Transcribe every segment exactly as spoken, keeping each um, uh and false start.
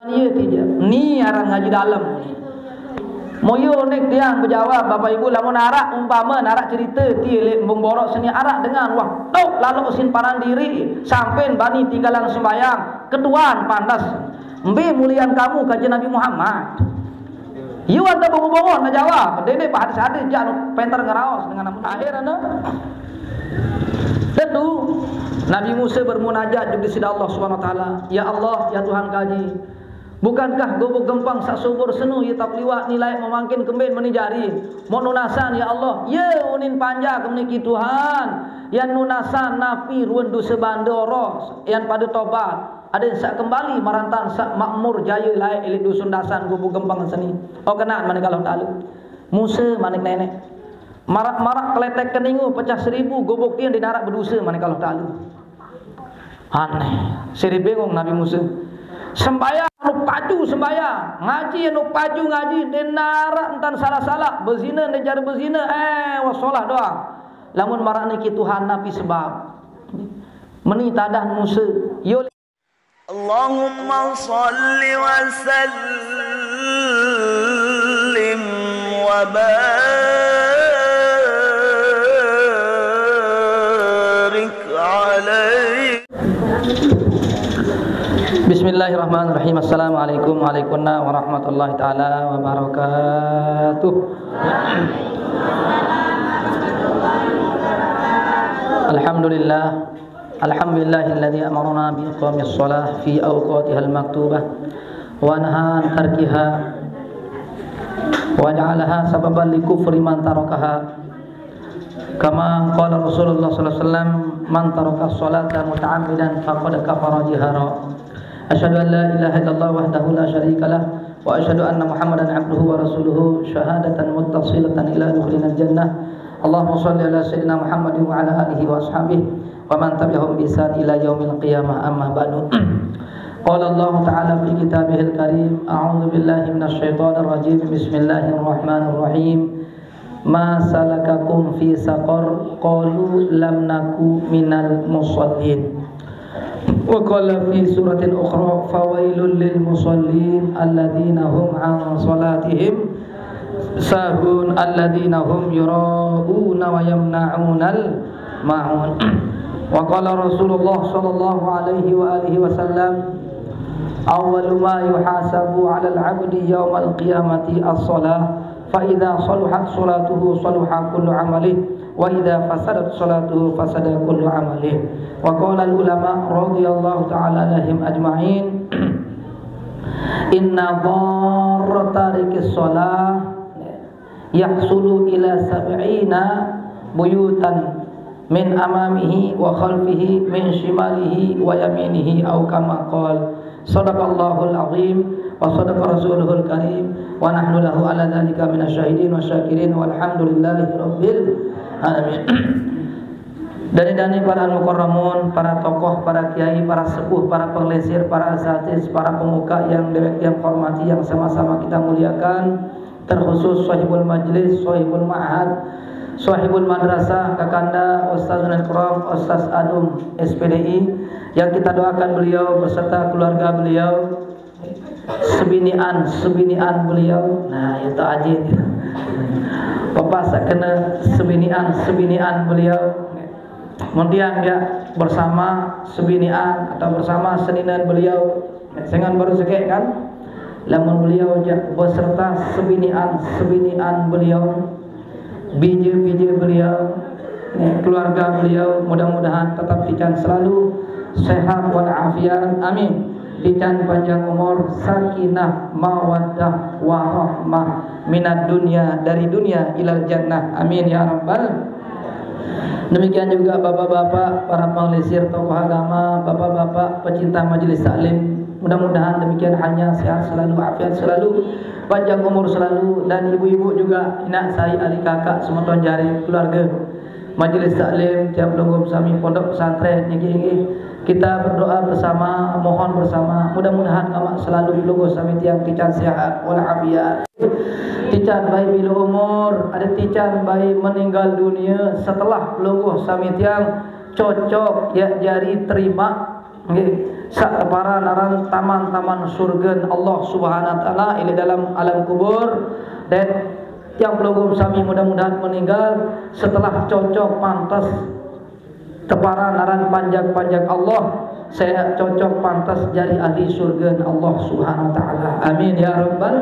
Iye ti je. Ni aran ngaji dalem. Moyo nek tiang bejawab, Bapak Ibu, lamun arak umpama, arak cerita ti lek embung borok seni, arak dengan wah tok lalok usin paran diri, sampen bani tinggalan sembayang, ketuan pandas. Mbe mulian kamu, kaji Nabi Muhammad. Yu anta bongo-bongo na jawab, dede bahas hadis, jak penter ngeraos dengan amun akhir anu. Tentu Nabi Musa bermunajat juga sida Allah Subhanahu wa taala, "Ya Allah, ya Tuhan kaji, bukankah gubuk gempeng sak subur senu ye tau keliwak ni layak memangkin kemben meni jari? Mok nunasan, ya Allah, ye unin panjak meniki Tuhan, yan nunasan napi ruen dosa banda oros, yan pada tobat, aden sak kembali marantan sak makmur jaya layak elik dusun dasan gubuk gempeng seni." Oh, kenaan manik Allah Taala. Musa manik nenek. Marak-marak keletek keningu pecah seribu, gubuk tiang dinarak bedosa manik Allah Taala. Aneh. Seri bingung Nabi Musa. Sembayang anu paju sembayang, ngaji anu paju ngaji, dinarak entan salah-salah, bezina dinarak bezina, eh, wasolah doang. Lamun marak niki Tuhan napi sebab? Meni tadah Musa. Yo. Allahumma salli wa sallim wa barik alaihi. Bismillahirrahmanirrahim. Assalamualaikum warahmatullahi taala wabarakatuh. Alhamdulillah. Alhamdulillahilladzi amarna bi iqamis shalah fi awqatihal maktubah wa naha an tarkiha wa ja'alaha sababan li kufri man tarakaha. Kama qala Rasulullah sallallahu alaihi wasallam, "Man taraka shalata muta'ammidan faqad kafara jihara." Asyhadu an la ilaha illallah wahdahu la syarika lah, wa asyhadu anna Muhammadan abduhu wa rasuluhu syahadatan muttasilatan ila dukhulina jannah. Allahumma shalli ala sayyidina Muhammadin wa ala alihi wa ashabihi wa man tabi'ahum bi ihsan ila yaumil qiyamah, amma ba'du. Qala Allahu ta'ala fi kitabihil karim, a'udzu billahi minasy syaithanir rajim. Bismillahirrahmanirrahim. "Ma salakakum fi saqar?" Qalu, "Lam naku minal musallin." Wa qala fi suratin ukhra, "Fawailul lil musallin, alladzina hum an salatihim sahun, alladzina hum yura'una wa yamna'unal ma'un." Wa qala Rasulullah sallallahu alaihi wa alihi wasallam, "Awwalu ma yuhasabu 'alal 'abdi yaumal qiyamati as-shalah, fa idza saluhat salatuhu saluha kullu 'amalih, wa idza fasadat salatuhu fasada kullu 'amalih." Wa qala al-ulama radhiyallahu ta'ala 'alaihim ajma'in, "Inna dharra tarikis shalah yahsulu ila sab'ina buyutan min amamihi wa khalfihi min shimalihi wa yaminihi, au kama qal." Sadaqallahul azim wa sadaqa rasuluhul karim wa nahnu lahu ala dzalika minasy syahidin wa syakirin walhamdulillahi rabbil alamin. Dani-dani para al-mukarramun, para tokoh, para kiai, para sepuh, para penglesir, para asatiz, para pemuka yang dewek yang hormati, yang sama-sama kita muliakan, terkhusus sahibul majlis, sahibul ma'had, sahibul madrasah, kakanda Ustaz Nurul Karam, Ustaz Adum, S P D I, yang kita doakan beliau beserta keluarga beliau, sebinian, sebinian beliau. Nah, itu aja. Bapak sakena sebinian, sebinian beliau. Kemudian dia bersama sebinian atau bersama seninan beliau. Sengan baru sekek kan? Lamun beliau ja-, beserta sebinian, sebinian beliau, bije-bije beliau, ya, keluarga beliau, mudah-mudahan tetap tican selalu sehat walafiat. Amin. Tican panjang umur, sakinah, mawaddah, warahmah minad dunia, dari dunia ilal jannah. Amin ya rabbal. Demikian juga bapak-bapak, para penglesir, tokoh agama, bapak-bapak pecinta majelis taklim. Mudah-mudahan demikian halnya, sehat selalu, afiat selalu, panjang umur selalu, dan ibu-ibu juga, inak sai, ari kakak, semeton jari, keluarga. Majelis taklim tiap lungguh sami pondok pesantren niki, kita berdoa bersama, mohon bersama, mudah-mudahan ngamak selalu lungguh sami tiang tican sehat walafiat. Tican baik bila umur, ada tican baik meninggal dunia setelah lungguh sami tiang cocok ya jari terima. Nggih. Sak tepara naran taman-taman surgen Allah Subhanahu wa taala, ilik dalam alam kubur. Dan tiang pelungguh sami mudah-mudahan meninggal setelah cocok pantas tepara naran panjak-panjak Allah, saya cocok pantas jadi ahli surgen Allah Subhanahu wa taala. Amin ya rabbal.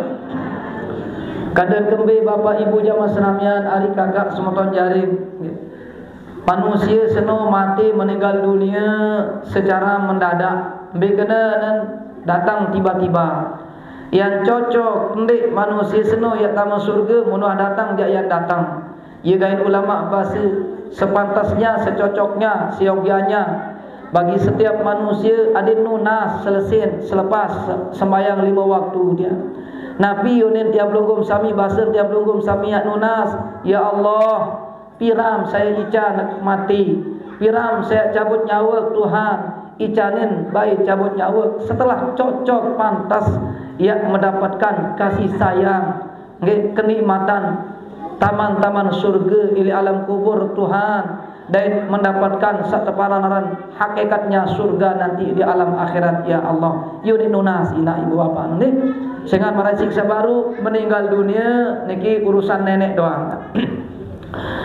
Kada kembe Bapak Ibu jamaah senamian, ari kakak semeton jaring. Manusia seno mati meninggal dunia secara mendadak. Mbe kena nan datang tiba-tiba. Yang cocok ndik manusia seno yak tama surga munuh datang jak yang datang. Ye gain ulama basa sepantasnya, secocoknya, seyogianya bagi setiap manusia adin nunas selesin selepas sembayang lima waktu dia. Napi unin tiap lunggung sami basa tiap lunggung sami yak nunas, ya Allah, piram saya ican mati, piram saya cabut nyawa Tuhan, icanin baik cabut nyawa setelah cocok pantas ia mendapatkan kasih sayang, nggih, kenikmatan taman-taman surga ili alam kubur Tuhan, dan mendapatkan satepara naran hakikatnya surga nanti di alam akhirat, ya Allah. Yuni nunas ina ibu bapak nih. Sehingga marasik sabaru meninggal dunia niki urusan nenek doang.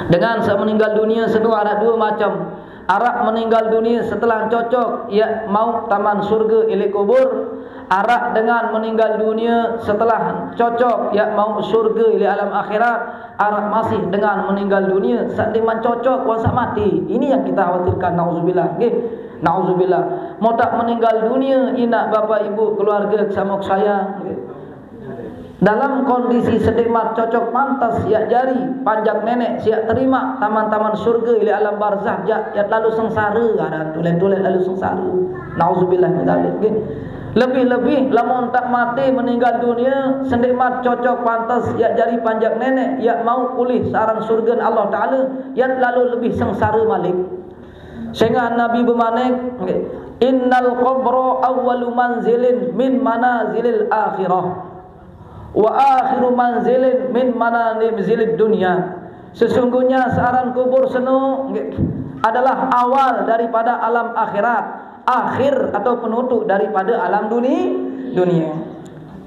Dengan semeninggal dunia seno ada dua macam. Arak meninggal dunia setelah cocok ia mau taman surga ili kubur. Arak dengan meninggal dunia setelah cocok ia mau surga ili alam akhirat. Arak masih dengan meninggal dunia satiman cocok kuasa mati. Ini yang kita khawatirkan. Nauzubillah. Nggih. Nauzubillah. Mau tak meninggal dunia inak bapak ibu keluarga kesamuk saya. Nggih. Dalam kondisi sedikmat cocok pantas siak jari panjak nenek siak terima taman-taman surga ili alam barzah jak ia lalu sengsara, ada tulen-tulen lalu sengsara. Nauzubillah min dzalik. Lebih-lebih lamun tak mati meninggal dunia sedikmat cocok pantas siak jari panjak nenek ia mau pulih saran surga Allah Taala ia lalu lebih sengsara malik. Sehingga Nabi bemanik, innal qabra awwalu manzilin min manazilil akhirah. Wa akhiru manzilin min manazilid dunya. Sesungguhnya searan kubur seno adalah awal daripada alam akhirat, akhir atau penutup daripada alam duni, dunia.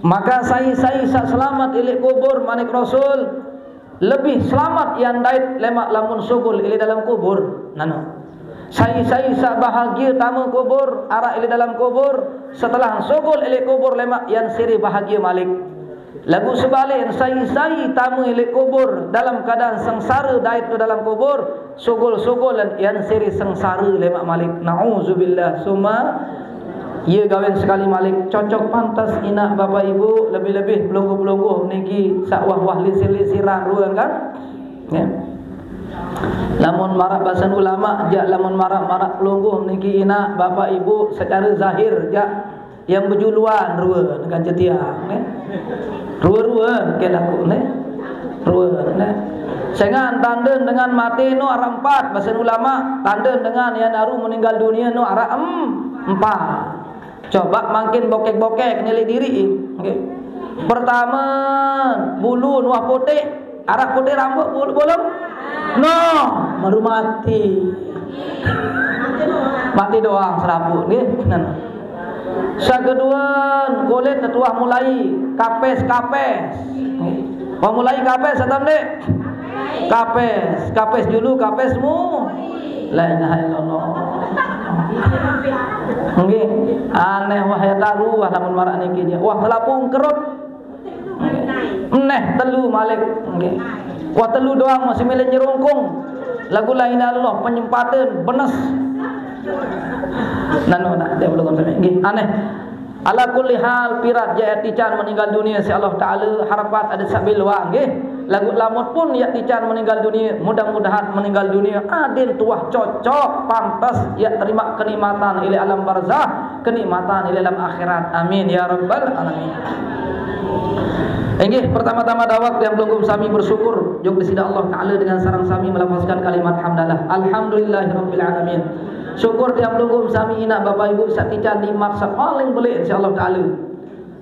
Maka sai-sai sak selamat ilik kubur manik Rasul, lebih selamat yang dait lemak lamun sugul ilik dalam kubur. Nano. Sai-sai sak bahagia tama kubur, arak ilik dalam kubur, setelah sugul ilik kubur lemak yang siri bahagia malik. Lagu sebalik sai-sai tama ilik kubur dalam keadaan sengsara dait tu dalam kubur, sugul-sugul yang siri sengsara lemak malik. Nauzubillah summa. Ia gawin sekali malik cocok pantas inak bapak ibu lebih-lebih pelungguh-pelungguh niki sak wah-wah lisir-lisiran ruang kan. Ya. Lamun marak basan ulama jak lamun marak-marak pelungguh niki inak bapak ibu secara zahir jak yang bejuluan rua dengan jetiang, eh. Rua-rua ke laku ne. Rua ne. Sengan tanden dengan mati no arah empat bahasa ulama, tanden dengan yang naru meninggal dunia no arah em, empat. Coba makin bokek-bokek nilai diri. Okay. Pertama, bulu nuah putih, arah putih rambut bulu bolong. No, baru mati. Mati doang serabut nggih. Nah. Sakeduan kulit tetuah mulai kapes-kapes. Wah mulai kapes atau ndik? Kapes, kapes dulu kapes mu. La ilaha illallah. Nggih, aneh wah ya taruh wah lamun marak niki nya. Wah selapung kerut. Neh telu malik. Nggih. Wah telu doang masih milih nyerungkung. Lagu lain Allah penyempatan benes. Nanu nak dia belum sampai. Nggih, aneh. Ala kulli hal pirat jaya tican meninggal dunia si Allah Taala harapat ada sabil wang nggih. Lagu lamut pun ya tican meninggal dunia, mudah-mudahan meninggal dunia adin tuah cocok pantas ya terima kenikmatan ili alam barzah, kenikmatan ili alam akhirat. Amin ya rabbal alamin. Inggih pertama-tama dawak yang belum sami bersyukur jok di sida Allah Taala dengan sarang sami melafazkan kalimat hamdalah. Alhamdulillahirabbil alamin. Syukur tiap lungguh sami inak bapak ibu sak tican nikmat sak paling belik insya Allah Taala.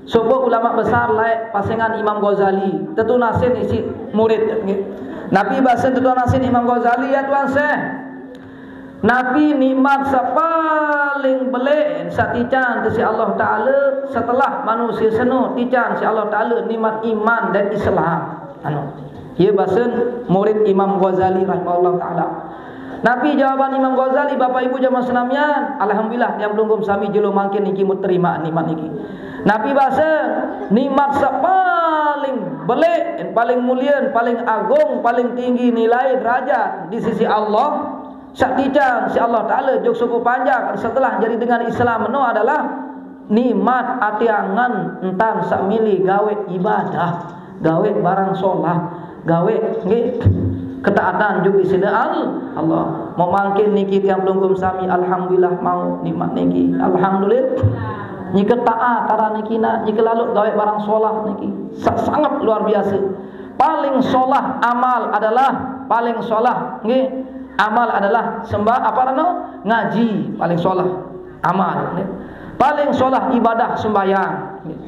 Sopo ulama besar laik pasengan Imam Ghazali, tetu nasin isi murid. Nabi basen tetu nasin Imam Ghazali ya tuan seh. Napi nikmat saq paling beleq saq tican siq Allah Taala setelah manusie seno tican siq Allah Taala nikmat iman dan Islam. Anu, ie basen murid Imam Ghazali rahimahullah taala. Napi jawaban Imam Ghazali, Bapak Ibu jamaah senamian? Alhamdulillah, tiang pelungguh sami jelo mangkin niki meterima nikmat niki. Napi base nikmat saq paling beleq, paling mulie, paling agung, paling tinggi nilai derajat di sisi Allah, saq tican siq Allah Taala jok sopoq panjak setelah jari dengan Islam eno adalah nikmat ate angen entan saq mele gaweq ibadah, gaweq barang solah, gaweq, nggih, ketaatan jok Deside Al-, Allah. Mok mangkin niki tiang pelungguh sami, alhamdulillah mauq nikmat niki. Alhamdulillah. Nike taat aran niki nah, nike laloq gaweq barang solah niki. Sa-, sangat luar biase. Paling solah amal adalah, paling solah, nggih, amal adalah sembah-, apa aranne? Ngaji, paling solah amal, nggih. Paling solah ibadah sembahyang.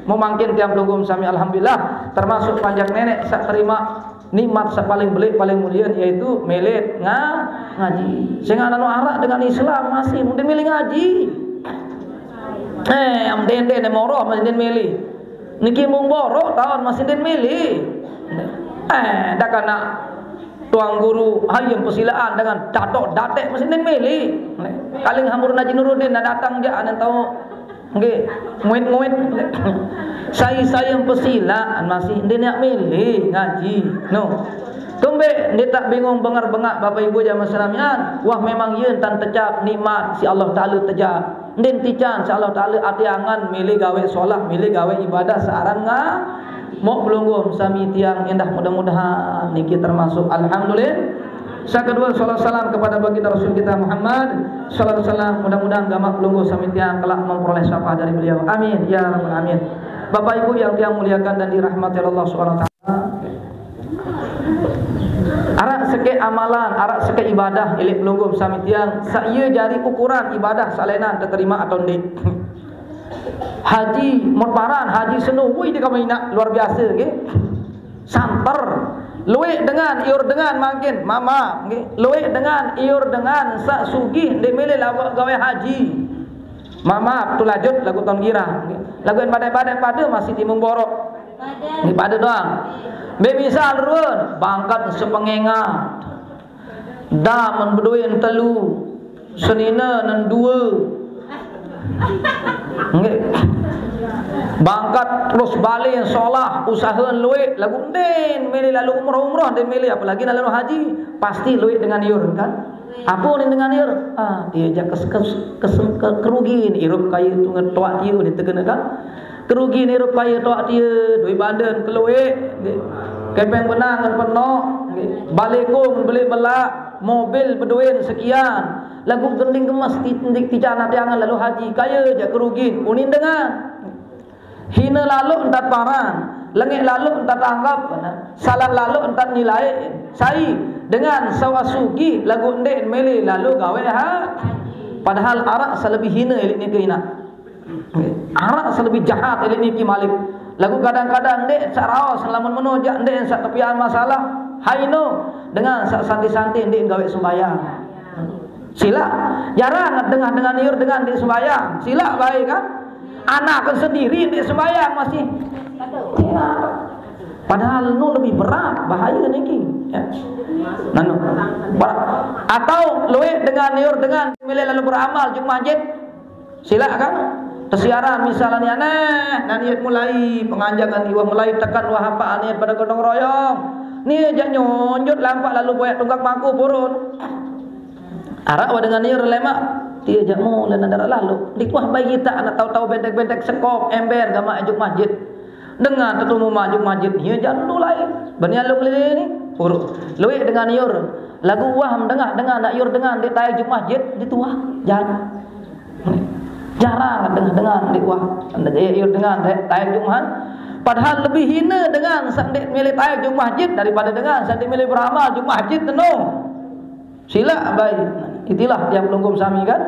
Mok mangkin tiang pelungguh sami alhamdulillah termasuk panjak neneq saq terima nikmat saq paling beleq, paling mulie, yaitu mele nga-, ngaji. Sengaq nano araq dengan Islam masih mending mele ngaji. Eh, am dende ne moroh masih den mele. Niki mung borok taon masih den mele. Eh, dak anak tuang guru hayem pesilaan dengan catok datek masih den mele. Kaling Hampurun Haji Nuruddin nak datang jaq anen tao. Nggih, muit-muit. Sai-sai yang pesilaan masih ndeq neaq mele ngaji. No. Kembeq ndeq taq bingung benger bengaq Bapak Ibu jamaah senamian. Wah, memang ie entan tejap nikmat siq Allah Taala tejap. Ndeq tican siq Allah Taala ate angen mele gaweq solah, mele gaweq ibadah searan nga-, mok pelungguh sami tiang endah mudah-mudahan niki termasuk alhamdulillah. Saq kedue, salawat salam kepada baginda Rasul kita Muhammad, salawat salam, mudah-mudahan gamaq pelungguh sami tiang kelak memperoleh syafaat dari beliau. Amin ya rabbal alamin. Bapak Ibu yang tiang muliakan dan dirahmati Allah Subhanahu wa taala. Araq sekeq amalan, araq sekeq ibadah, ileq pelungguh sami tiang, saq ie jari ukuran ibadah saq lenan teterima atau ndeq. Haji, mut paran, haji seno, woi, dekamen inaq luar biase, nggih. Santer. Lueq dengan, iur dengan mangkin, maaf, nggih. Lueq dengan, iur dengan saq sugih ndeq mele laweq gaweq haji. Maaf, tulajut laguq taun girang, nggih. Laguq en badaq-badaq pade masih timun borok. Nggih, pade doang. Mbe misal ruen, bangkat sepengengat. Damen bedoen telu, senine nen due. Nggih. Bangkat terus bale solah, usahe lueq, laguq ndeqn mele lalo umroh-umroh, ndeqn mele, apalagi lalo haji, pasti lueq dengan iur, kan? Ape ndeqn dengan iur? Ah, tie jaq kes-, kes-, kes-, ke-, kerugin irup kaye tunget toaq tie, ndeqn tegene, kan? Kerugin irup kaye toaq tie, due banden kelueq, nggih. Kepeng benang ngen penoq, nggih. Baleko ngen beleq belaq, mobil bedoen sekian. Laguq gending gemes ti-, ndeq tican ate angen lalo haji, kaye jaq kerugin, unin dengan. Hine laloq entat paran, lengeq laloq entat anggap, salah laloq entat nilai. Sai dengan saq sugih laguq ndeq mele lalo gaweq ha-, padahal araq saq lebih hine ileq nike inaq. Araq saq lebih jahat ileq niki malik. Laguq kadang-kadang ndeq saq raos lamun meno jaq ndeq saq tepian masalah. Haino dengan saq santi-santi ndeq gaweq sembahyang. Silaq. Jarang dengah dengan iur dengan ndeq sembahyang. Silaq bae kan? Anak sendiri ndeq sembahyang masih. Padahal nu lebih berat, bahaya niki. Ya. Nanu. Ba-, atau lueq dengan iur dengan mele lalo beramal juk masjid. Silaq kan? Tesiaran misalne aneh, nah niat mulai penganjakan iwah mulai tekan wah apaq niat pade gotong royong. Ni jaq nyonjot lampaq lalo boyaq tunggak paku purun. Araq wah dengan iur lemaq, tie jaq mule nadar lalo. Ndeq wah bae gitaq anak tau-tau bentek-bentek sekop, ember gamaq juk masjid. Dengan tetumu maju masjid, ie jaq ndu lain. Bani alung lele ni, puruk. Lueq dengan iur. Laguq wah mendengah dengan, nak iur dengan ndeq taek juk masjid, ndeq tuah. Jarang. Jarang dengah dengan ndeq wah. Ndeq iur dengan ndeq taek juk masjid. Padahal lebih hine dengan saq ndeq mele taek juk masjid daripada dengan saq ndeq mele beramal juk masjid, tenung. Silaq bae. Itilah tiang pelungguh sami kan.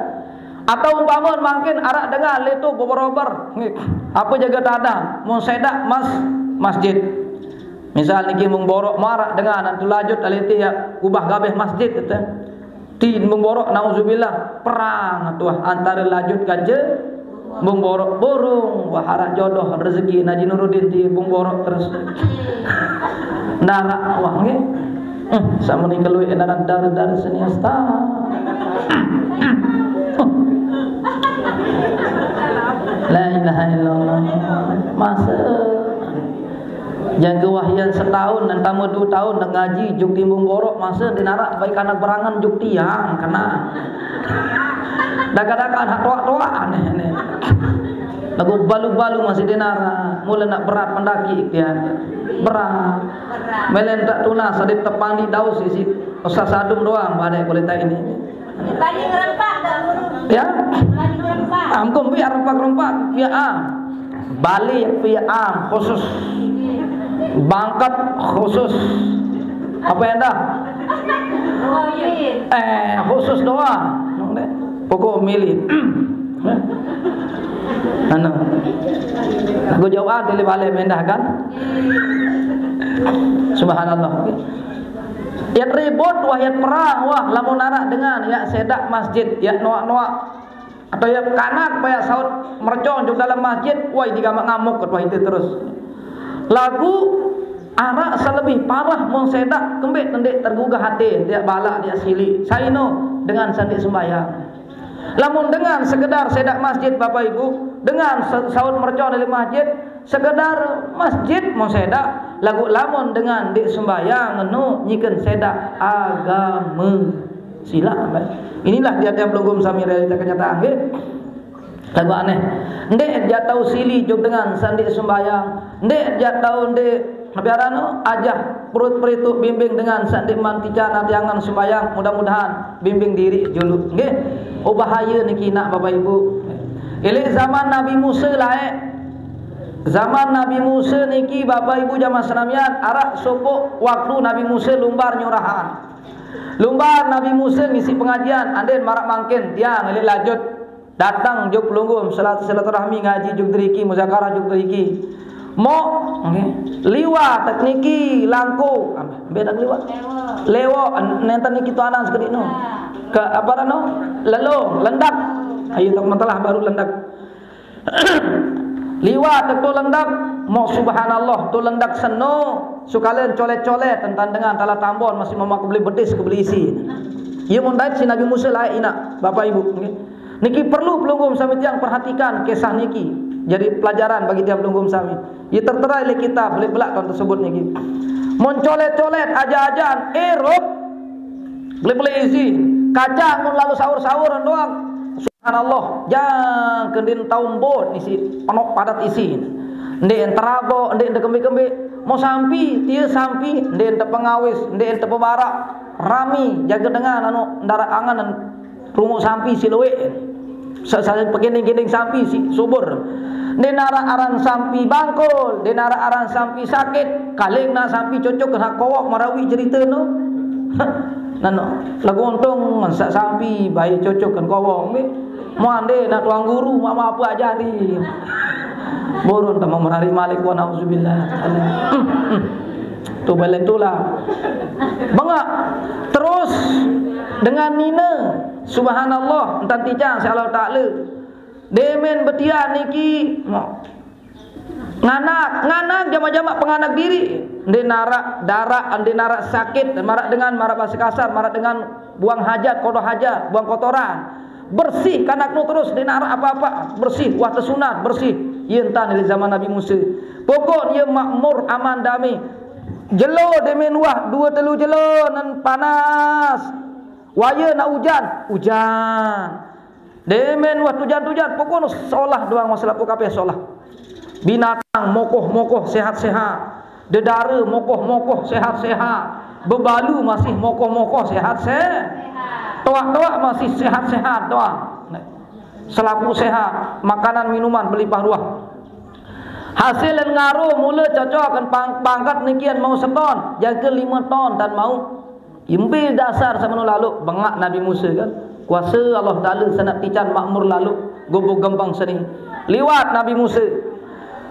Atau umpame mangkin araq dengan leto beberober. Nggih. Ape jage tadang? Mun sedaq mas-, masjid. Misal niki mung borok maraq dengan antu lajut alete ya ubah gabeh masjid tete. Ti Embung Borok, nauzubillah, perang tuah antara Lajut kance Embung Borok. Burung, wah, araq jodoh rezeki Haji Nuruddin ti Embung Borok terus. Narak wah nggih. Hmm, sama ni keluih narak dar-dar seni asta. La ilaha illallah. Masa Jangke wah yan setaun, entama due taun, ndeq ngaji, juk ti Embung Borok, mase ndeq naraq baik anak berangen juk tiang, kena. Daka-daka anak toaq-toaq, aneh, aneh. Laguq balu-balu masih ndeq naraq, mule naq berat pendaki tiang. Berat. Mele ndeq tunas, adeq tepandi daus isiq. Usah sadum doang, badek kulit tai ini. Bali ngerempak, Kak Guru. Ya? Bali ngerempak. Ampun, biar rempak-rempak. Ya, ah. Bali, ya, ah, khusus. Bangket khusus. Apa yang dah? Oh, iya. Eh, khusus doang. Pokok milih. Anu. Aku jauh ah, pilih balik mendah kan? Subhanallah. Yat ribut, wah, yat perang, wah, lamun araq dengan, yaq sedaq masjid, yaq noaq-noaq, atau yaq kanak, baq yaq saut mercon juk dalem masjid, wah, idi gamaq ngamuk, wah, itu terus. Laguq araq saq lebih parah mun sedaq, kembeq ndeq tergugah ate, tiaq balaq, tiaq siliq. Sai no? Dengan saq ndeq sembahyang. Lamun dengan sekedar sedaq masjid, Bapak Ibu, dengan sa-, saut mercon leq masjid, sekedar masjid mun sedaq, laguq lamun dengan ndeq sembahyang, eno nyiken sedaq agame. Silaq, Bapak. Inilah tiang-tiang pelungguh sami, realita kenyataan, nggih. Laguq aneh. Ndeq jaq tao sili juk dengan saq ndeq sembahyang. Ndeq jaq tao ndeq Napi aran no? Ajah perut perituq bimbing dengan saq ndeqman tican ati angen sembahyang, mudah-mudahan bimbing diriq juluq. Nggih. Oh, bahaye niki naq, Bapak Ibu. Eleq zaman Nabi Musa laeq. Zaman Nabi Musa niki, Bapak Ibu, jaman senamian, araq sopoq waktu Nabi Musa lumbar nyurahan. Lumbar Nabi Musa ngisi pengajian, andin maraq mangkin tiang eleq Lajut. Dateng juk pelungguh, silat-, silaturahmi, ngaji juk deriki, muzakarah juk deriki. Moq, nggih, liwat niki Langko, mbe dak liwat? Lewoq, nenten niki tuanan sekediq no. Ke apa no? Lelong, Lendak. Ayo, tak mentelah baru Lendak. Liwat to Lendak, moq subhanallah, to Lendak seno, sekalian colet-colet tentang dengan talah tambon masih memakai beli betis ke beli isi. Iya mun dait si Nabi Musa laeq inaq, Bapak Ibu, nggih. Niki perlu pelungguh sami tiang perhatikan kisah niki. Jadi pelajaran bagi tiang pelungguh sami. Ye tertera leq kitab, leq belaq ton tersebut niki. Mun colet-colet aja-ajaan, erup, beli-beli isi. Kacang mun lalu sahur-sahuran doang. Subhanallah, jangke ndin tao mbon isi, penoq padat isi. Ndeq terabok, ndeq tekembe-kembe. Mau sampi, tie sampi, ndeq tepengawis, ndeq tepebarak. Rami, jage dengan anu, ndaraq angen, Runguq sampi siq lueq. Sa-, sa-, pegending-gending sampi siq subur. Ndeq naraq aran sampi bangkol, ndeq naraq aran sampi sakit. Kaling nah sampi cocok kena kowok marawi cerite no. Nano, lagu untung saq sampi bae cocok kena kowok. Muande nak tuang guru, mak, mak apa ajari. Burun tama merari malik, wa nauzubillah. Tu balen tulah. Bengaq. Terus dengan nine, subhanallah, entan tijang si Allah Taala. Demen betian niki, nganak, nganak jamak-jamak penganak diri. Ndeq naraq daraq, ndeq naraq sakit, maraq dengan, maraq bahasa kasar, maraq dengan buang hajat, kodoh hajat, buang kotoran. Bersih kanak nu terus, ndeq naraq apa-apa. Bersih, wah tesunat, bersih. Ie entan leq zaman Nabi Musa. Pokok ie makmur, aman, damai. Jelo demen wah due telu jelo nen panas. Waye nak ujan, ujan. Demen wah tujan-tujan, pokokno solah doang, wah selapuq kabeh solah. Binatang mokoh-mokoh, sehat-sehat. Dedare mokoh-mokoh, sehat-sehat. Bebalu masih mokoh-mokoh, sehat-sehat. Toaq-toaq masih sehat-sehat doang. Selapuq sehat, makanan minuman belimpah ruah. Hasil en ngaro mule cocoken pang-, pangkat nikian mauq seton, jangke lime ton tan mauq. Imbe dasar semeno laloq, bengaq Nabi Musa kan. Kuase Allah Taala seneq tican makmur laloq, goboq gempeng seni. Liwat Nabi Musa.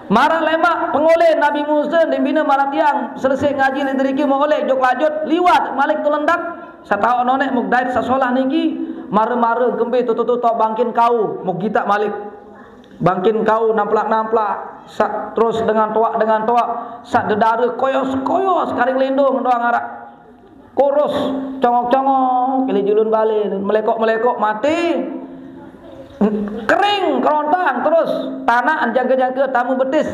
Maraq lemaq pengole Nabi Musa, ndimbine maraq tiang selese ngaji leq deriki mauq leq jok lajut, liwat malik to Lendak. Sataoq noneq muk dait saq solah niki, mare-mare kembe tutuq-tutuq bangkin kau, muk gitaq malik. Bangkin kau namplak-namplak, saq terus dengan toaq, dengan toaq, saq dedare koyos-koyos, karing lendong doang araq. Kurus, congok-congok, kili julun bale, melekok-melekok, mate. Kering, kerontang, terus tanaq jangke-jangke tame betis.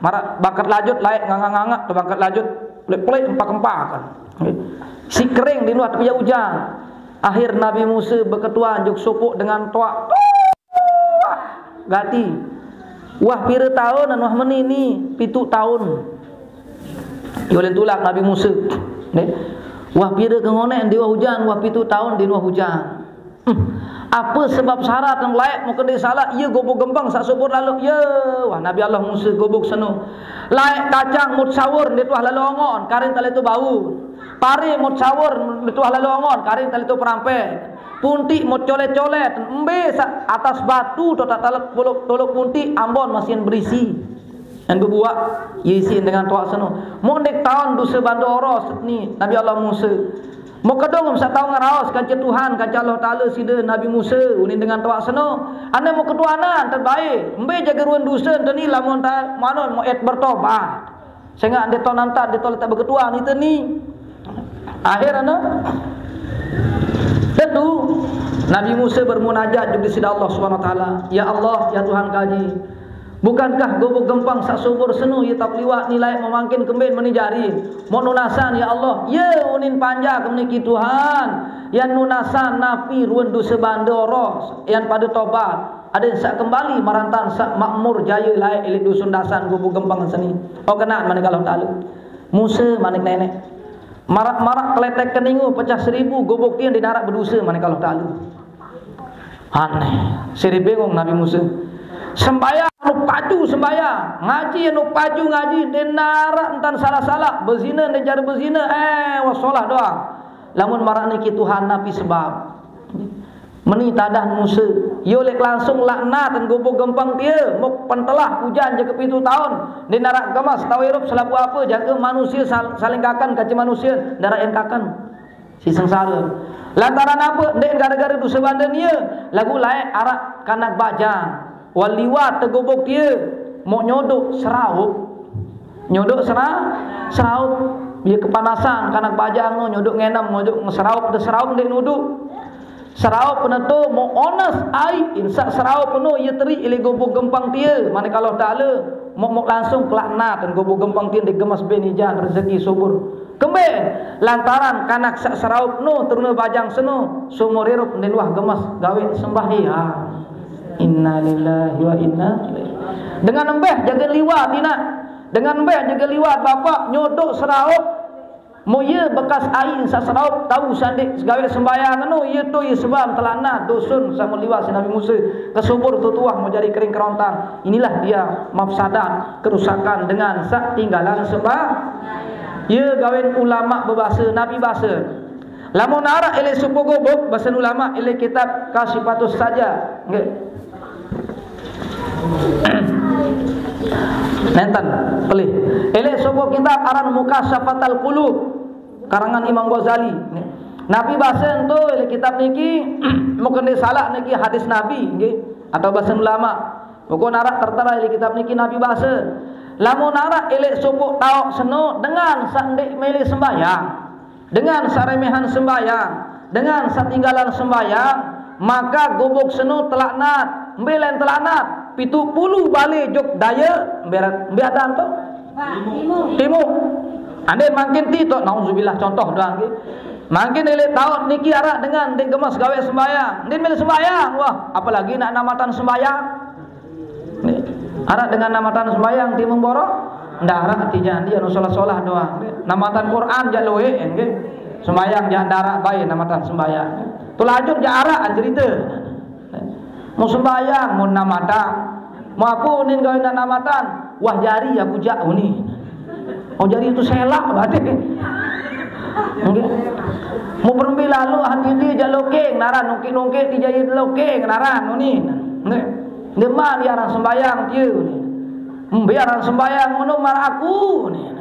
Maraq bangket lajut, laeq ngangaq-ngangaq, tu bangket lajut, pelik-pelik, empak-empakan. Si kering di luah tepiaq ujan. Akhir Nabi Musa beketuan juk sopoq dengan toaq. Gati. Wah pire taun, wah meni ni? Pituq taun. Ye ulen tulak Nabi Musa. Nggih. Wah pire ke ngoneq ndeq wah ujan, wah pituq taun ndeq wah ujan. Hmm. Ape sebab syarat laeq muken ndeq salaq? Ye gubuk gempeng saq subur laloq. Ye, wah Nabi Allah Musa gubuk seno. Laeq kacang mut sawur ndeq tuah laloq ongon, karing tale tu bau. Pare mut sawur ndeq tuah laloq ongon, karing tale tu perampek. Puntiq mut colet-colet, embe saq atas batu toq taq talet toloq, toloq puntiq ambon masih berisi. Ngan bebuaq, ye isiq dengan toaq seno. Muk ndeq taon dose bande oros ni Nabi Allah Musa. Muk kedung saq tao ngeraos kance Tuhan, kance Allah Taala side Nabi Musa, unin dengan toaq seno. Ane muk ketuanan terbaik, embe jage ruen dose ente ni lamun ta manut muk et bertobat. Sengaq ndeq to nantat, ndeq to letak beketuan ite ni. Akhir ane tetu Nabi Musa bermunajat juk di side Allah Subhanahu wa Taala, "Ya Allah, ya Tuhan kaji, bukankah gubuk gempeng saq subur seno ye tauq liwat ni laeq memangkin kemben meni jari? Muk nunasan, ya Allah, ye unin panjak meniki Tuhan, yan nunasan napi ruen dose bande oros, yan pade tobat." Adeq saq kembali marantan saq makmur jaye laeq ileq dusun dasan gubuk gempeng seni. Oh, kenaq manik Allah Taala. Musa manik neneq. Marak-marak keletek keningu pecah seribu gubuk tie ndeq naraq beduse manik Allah Taala. Aneh. Seri bingung Nabi Musa. Sembayang anu paju sembayang, ngaji anu paju ngaji, ndeq naraq entan salah-salah, bezine ndeq jari bezine, eh, wah solah doang. Lamun maraq niki Tuhan napi sebab? Meni tadah Musa, ye leq langsung laknat gubuk gempeng tie, muk pentelah ujan jangke pituq taun, ndeq naraq gemes tao irup selapuq ape, jangke manusie sal-, saling kaken kance manusie, ndaraq en kaken. Si sengsare. Lantaran ape? Ndeq gare-gare dose bande nie, laguq laeq araq kanak bajang. Wah liwat tegubuk tie, muk nyodok seraup. Nyodok sera-, seraup. Ye kepanasan, kanak bajang no nyodok ngenem, nyodok seraup, de seraup ndeq nuduk. Seraup ne to muk ones aiq, insaq seraup no ye teriq ileq gubuk gempeng tie, manik Allah Taala, muk, muk langsung kelaknat gubuk gempeng tie ndeq gemes ben ijan rezeki subur. Kembe? Lantaran kanak saq seraup no, terune bajang seno, seumur irup ndeq luah gemes gaweq sembahyang. Innalillahi wa inna ilaihi. Dengan embeh jage liwat, inaq. Dengan embeh jage liwat, bapak, nyodok seraup. Mo ye bekas aiq saq seraup, tao saq ndeq gaweq sembahyang eno, ye to ye sebab telaknat dusun saq meliwat siq Nabi Musa. Kesubur to tuah mo jari kering kerontang. Inilah dia mafsadat, kerusakan dengan saq tinggalan sembah. Ye gawen ulama bebase, nabi base. Lamun araq ileq sopoq gubuk, basen ulama ileq kitab Kasyifatus Saja. Nggih. Nenten, pelih. Ileq sopoq kitab aran Mukasyafatal Qulub, karangan Imam Ghazali. Napi base ento ileq kitab niki, mungkin ndeq salaq niki hadis Nabi, nggih, atau basen ulama. Pokokne araq tertera ileq kitab niki napi base. Lamun araq ileq sopoq taoq seno dengan saq ndeq mele sembahyang, dengan saq remehan sembahyang, dengan saq tinggalan sembahyang, maka gubuk seno telaknat. Mbe lain telaknat? Pituq pulu bale jok daye, mbe, mbe adan to? Timuq. Ande mangkin ti to, nauzubillah, contoh doang nggih. Mangkin ileq taoq niki araq dengan ndeq gemes gaweq sembahyang, ndeq mele sembahyang, wah, apalagi nak namatan sembahyang. Nggih. Araq dengan namatan sembahyang timuq borok? Ndaraq, ati jandi anu solah-solah doang. Nggih. Namatan Quran jaq lueq, nggih. Sembahyang jaq ndaraq bae namatan sembahyang. Tulajur jaq araq cerite. Mau sembahyang, mau namatan. Mau ape unin gawe nak namatan? Wah jari aku jaq unin. Oh, jari itu selak berarti. Nggih. Mau berembe lalu hati dia jaq loking naran, nungkik-nungkik di jari loking naran unin. Nggih. Ndeqman ye aran sembahyang tie unin. Mbe aran sembahyang ngono maraq aku unin.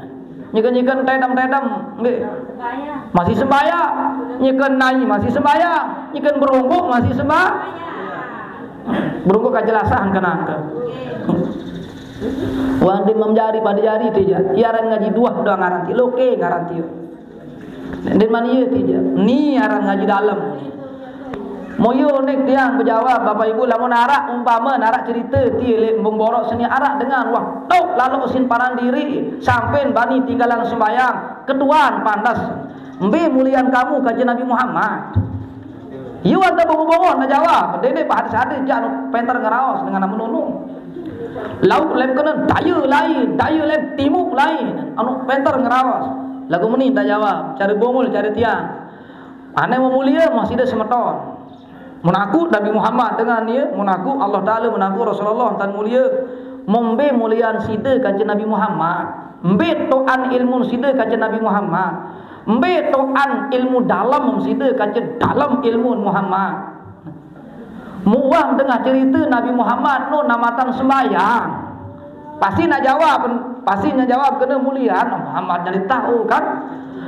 Nyeken-nyeken tedem-tedem, nggih. Masih sembahyang. Nyeken nai masih sembahyang. Nyeken berungguk masih sembahyang. Berungguk kajelasan kenangke. Wah, ndeq mem jari pade jari tie jaq. Ie aran ngaji duah doang aran tie. Loke ngaran tie. Ndeq man ie tie jaq. Ni aran ngaji dalem. Moyo nek tiang bejawab, Bapak Ibu, lamun araq umpame, araq cerite tie leq Embung Borok seni araq dengan wah tok laloq usin paran diriq, sampean bani tinggalan sembahyang, ketuan pantes. Mbe mulian kamu kance Nabi Muhammad? Yu ante bongoh-bongoh ne jawab, dene hadis-hadis jaq nu penter ngeraos dengan anu nunu. Lauq lem kenen daye lain, daye lem timuq lain, anu penter ngeraos. Laguq meni nte jawab, care bungul, care tiang. Ane memulie mah side semeton. Menaku Nabi Muhammad dengan ie, menaku Allah Taala, menaku Rasulullah tan mulie. Membe mulian side kance Nabi Muhammad. Mbe toan ilmu side kance Nabi Muhammad. Mbe toan ilmu dalem side kance dalem ilmu Muhammad. Muah dengah cerite Nabi Muhammad nu namatan sembahyang. Pasti nak jawab, pasti nak jawab kene mulian Muhammad nyelitah, oh, kan?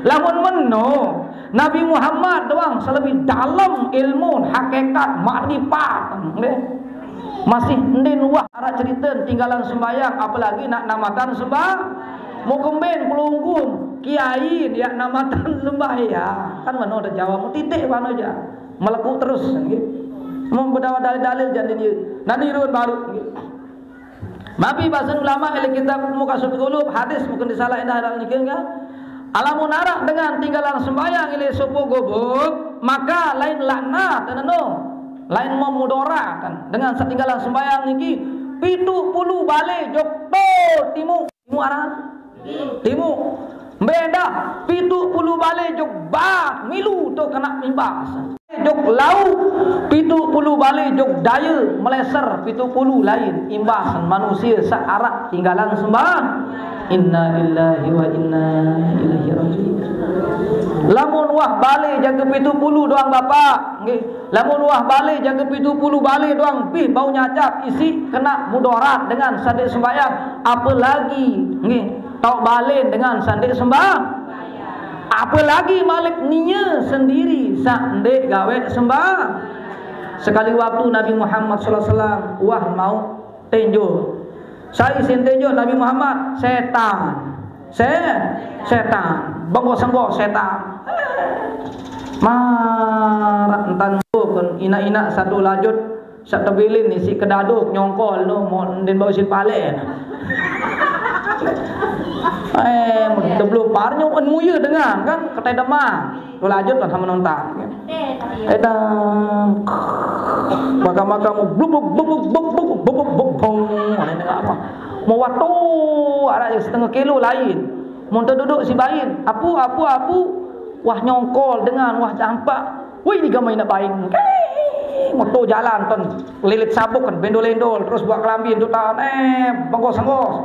Lamun meno, Nabi Muhammad doang selebih dalem ilmu, hakikat, makrifat, nggih. Masih ndin wah araq cerite tinggalan sembahyang, apalagi nak namatan sembah-, mau kemben pelungguh kiai dia namatan sembahyang. Kan meno ada jawab, titik mano aja. Meleku terus, nggih. Mau bedawa dalil-dalil jaq ndin ie. Nani ruen baru, nggih. Mapi basen ulama leq kitab Mukasyaful Qulub, hadis mungkin disalah endah dalam niki, nggih. Alamun araq dengan tinggalan sembahyang leq sopoq gubuk, maka lain laknat, eneno. Lain memudarat dengan setinggalan sembahyang niki, pitu puluh bale jok to timuq. Timuq aran? Timuq. Mbe endah, pitu puluh bale jok bat, milu to kena imbas. Jok lauq, pitu puluh bale jok daye, meleser, pitu puluh lain, imbas manusie saq araq tinggalan sembah. Innalillahi wa inna ilaihi raji'un. Lamun wah bale jage pitu puluh doang, Bapak, nggih. Lamun wah bale jage pitu puluh bale doang, bih bau nyacap, isiq kena mudarat dengan sandeq sembahyang, apelagi, nggih, taoq balen dengan sandeq sembah-, apelagi malik nie sendiri saq ndeq gaweq sembah-. Sekali waktu Nabi Muhammad sallallahu alaihi wasallam wah mauq tenjo. Sai sin tenjo Nabi Muhammad? Setan. Se-, setan. Bengko sengko setan. Maraq entan pun inaq-inaq satu lajut saq tebilin isiq kedado nyongkol no, mo-, ndin bau sin pale. Eh, tebelum parnyo en muye dengan kan ketedeman. Lo lajut kan sama nonton. Edang. Maka-maka mau blubuk, blubuk, blubuk, blubuk, blubuk, blubuk, bong. Mana ini apa? Mau waktu ada setengah kilo lain. Mun teduduk si bain, apu, apu, apu, wah nyongkol dengan, wah dampak. Wih, digama inaq bain. Moto jalan ton, lilit sabuk kan, bendol-endol, terus buat kelambi untuk tahan, eh, bengkos-bengkos.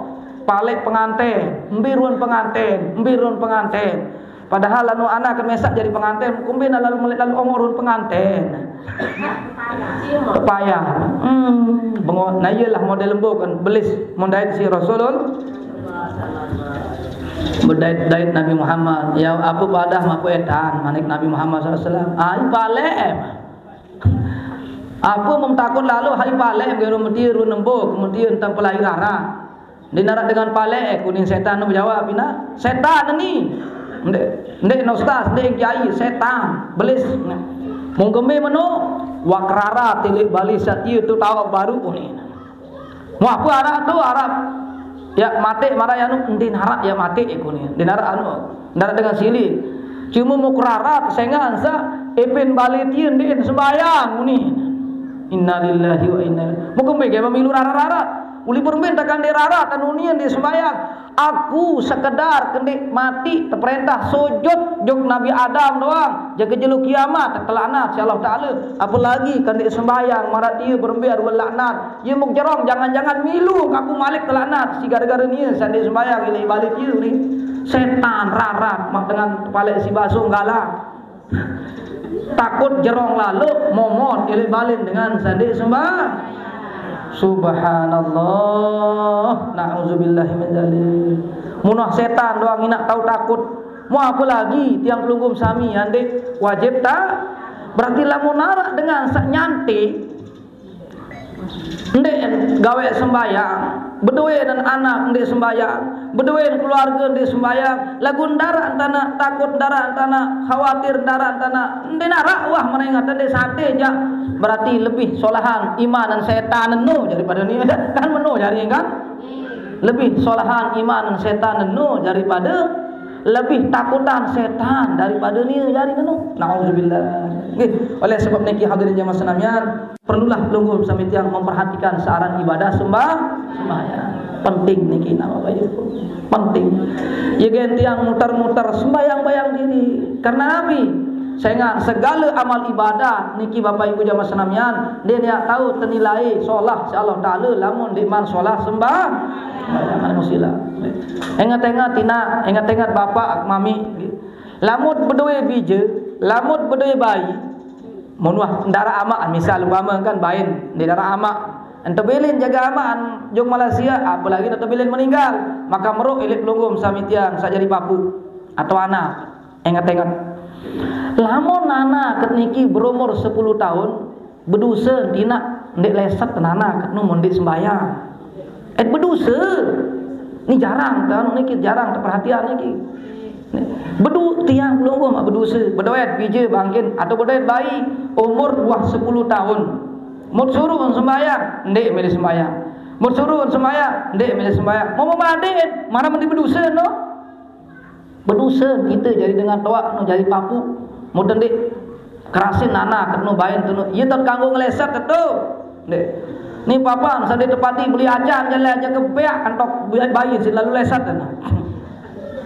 Palek penganten, mbe ruen penganten, mbe ruen penganten. Padahal anu anak kan mesak jadi penganten, kumbe lalu melek lalu ongor ruen penganten. Payah. Hmm, bengok. Nah, iyalah model lembo kan, belis mun dait si Rasulul. Bedait-dait Nabi Muhammad, ya, apa padah maku etan, manik Nabi Muhammad sallallahu alaihi wasallam. Ai palek. Apa mem takut lalu, hai palek, geru meti ru nembo, kemudian tang pelai rara. Di narak dengan palek, kuning setan menjawab, "Ina, setan ni." Ndek, ndek ustaz, ndek kiai, setan, belis. Mung kembe meno, wak rara tilik bali satie tu tawak baru ni. Mau apa araq tu, araq ya mate maraq anu, ndin araq ya mate iku ni. Ndin araq anu, ndin araq dengan sili. Cuma mau kerarat sengan sa epin balik tie ndin sembayang ni. Innalillahi wa inna ilaihi. Mau kembe ke memilu rarat-rarat. Uli permen tekan di rarat anu ni ndin sembayang. Aku sekedar kendik mati teperintah sujud juk Nabi Adam doang. Jaga jelo kiamat tekelaknat si Allah Taala. Apalagi kendik sembayang maraq tie berembe arwah laknat. Ye muk jerong, jangan-jangan milu kaku malik telaknat si gara-gara nie sande sembayang ilik balik ye ni. Setan rarat mak dengan kepala si basung galak. Takut jerong lalu momot ilik balik dengan sande sembah. Subhanallah, na'udzubillahi min dzalik. Munah setan doang inak tau takut. Mau apa lagi tiang pelungguh sami, ande wajib tak? Berarti lamun narak dengan sak nyante, ndeq gaweq sembahyang, bedoe ndeq anak ndeq sembahyang, bedoe keluarge ndeq sembahyang, laguq ndaraq ntaneq takut, ndaraq ntaneq khawatir, ndaraq ntaneq ndeq naraq wah merenget, ndeq sate jaq, berarti lebih solahan iman dan setan eno daripade nie. Kan meno jari, kan? Lebih solahan iman dan setan eno daripade, lebih takutan setan daripade nie jari eno. Nauzubillah. Nggih, oleh sebab niki hadirin jamaah senamian, perlulah pelungguh sami tiang memperhatikan searan ibadah sembah-, sembahyang. Penting niki, nah, Bapak Ibu. Penting. Ye gen tiang muter-muter sembahyang bayang diri. Karena napi? Sengaq segale amal ibadah niki, Bapak Ibu jamaah senamian, ndeq niat tau tenilai solah siq Allah Taala lamun ndeqman solah sembah-, sembahyang. Anu sila. Inget-inget inaq, inget-inget bapak, mami. Lamun bedoe bije, lamun bedoe bayi, mun wah ndaraq amaq, misal umpame kan bain, ndeq ndaraq amaq, ento bilin jage amaq jok Malaysia, apalagi ento bilin meninggal, maka meruq ileq pelungguh sami tiang saq jari papuq atau anak. Inget-inget. Lamun anak niki berumur sepuluh taun, beduse tinaq ndeq leset anak nu mun ndeq sembahyang. Et beduse. Ni jarang tau niki, jarang teperhatian niki. Bedu tiang pelungguh maq beduse, bedoet bije bangkin atau bedoet bayi umur wah sepuluh taun. Mut suruh sembahyang, ndeq mele sembahyang. Mut suruh sembahyang, ndeq mele sembahyang. Mau memandiin, mana mending beduse no? Beduse kite jari dengan toaq no jari papuq. Mut ndeq kerasin anak no bain tu no. Ye tot kanggo ngeleset tetu. Ndeq. Ni papan sande tepati beli acan jalan aja kebeak antok bayi selalu leset na.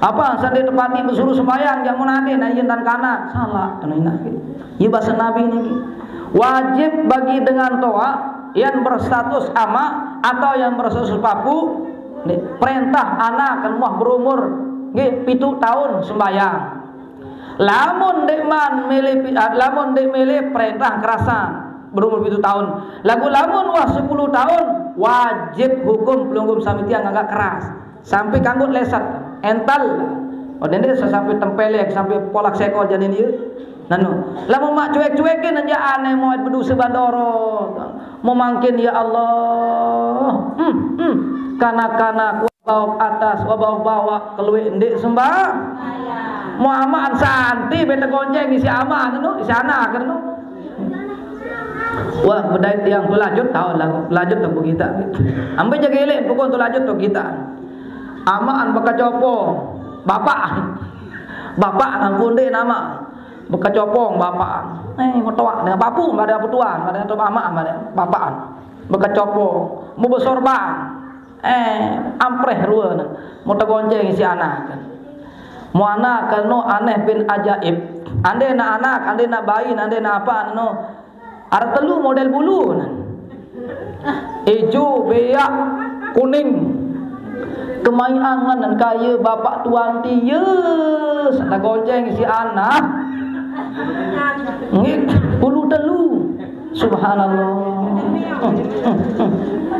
Apa sande tepati besuruh sembahyang, jak mun ade, nah, yen tan kanak, salah, kena inak. Ye base Nabi niki. Wajib bagi dengan toaq yang berstatus amaq atau yang berstatus papuq, nggih, perintah anak kan muah berumur, nggih, pitu taun sembahyang. Lamun ndeqman mele pi-, ah, lamun ndeq mele perintah kerasan berumur pitu taun. Laguq lamun wah sepuluh taun, wajib hukum pelungguh sami tiang agak keras. Sampai kanggo leset, ental. Oh, dende sampai tempelek, sampai polak sekor janin ieu. Nanu, lamun maq cuek-cuekin aja aneh mau beduse bandoro. Mau mangkin, ya Allah. Hmm, hmm. Kanak-kanak, wah baok atas, wah baok bawaq, kelueq ndeq sembah. Mau amaan santi bete gonceng isi aman nu, isi anak nu. Wah, bedait tiang pelajut taun lagu, pelajut tu kita. Ambe jage elek pokok tu lajut tu kita. Amaan bekecopong, bapak. Bapak nang kunde nama. Bekecopong bapak. Eh, metoak dengan papuq, pada apa tuan, pada tu amaan, pada bapak. Bekecopong, mau besorban. Eh, ampreh rue ne. Mau tegonceng isi anak. Mau anak keno aneh bin ajaib. Ande na anak, ande na bayi, ande na apa no. Arep telu model bulu. Ijo, beak, kuning. Kemai angen dan kaya bapak tuan tie. Sana gonceng isi anak. Nggih, bulu telu. Subhanallah.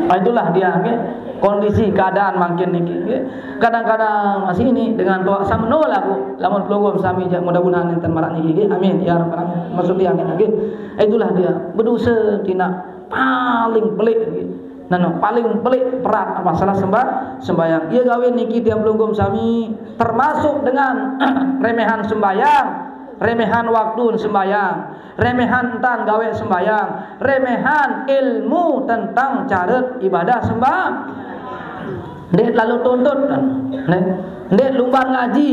Ah, itulah dia, nggih. Kondisi keadaan mangkin niki, nggih. Kadang-kadang masih ini dengan doa sameno lagu lamun pelungguh sami jaq, mudah-mudahan enten maraq niki, nggih. Amin ya rabbal alamin. Maksud dia nggih. Itulah dia. Beduse tinaq paling pelik nggih. Nah, no, paling pelik berat masalah sembah-, sembahyang. Iya gawe niki tiang pelungguh sami termasuk dengan remehan sembahyang, remehan waktu sembahyang, remehan entan gawe sembahyang, remehan ilmu tentang caret ibadah sembah. Ndeq lalu tuntut, ndeq, ndeq lumbar ngaji,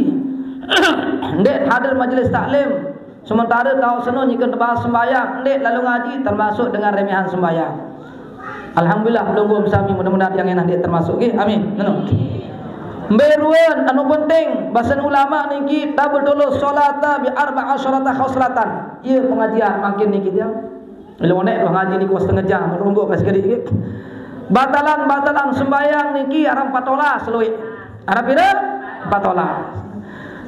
ndeq hadir majelis taklim, sementara tau seno nyeken tebas sembahyang, ndeq lalu ngaji, termasuk dengan remehan sembahyang. Alhamdulillah, pelungguh sami, mudah-mudahan tiang endah ndeq termasuk, nggih. Amin. Neno. Mbe ruen anu penting, basen ulama niki, tabtulus sholata bi arba'a asyarata khoslatan. Iya pengajian mangkin niki tiang. Lha oneq doh ngaji niku setengah jam, rombok pas sekediq, nggih. Batalan-batalan sembahyang niki araq empat olas lueq. Araq pire? Empat olas.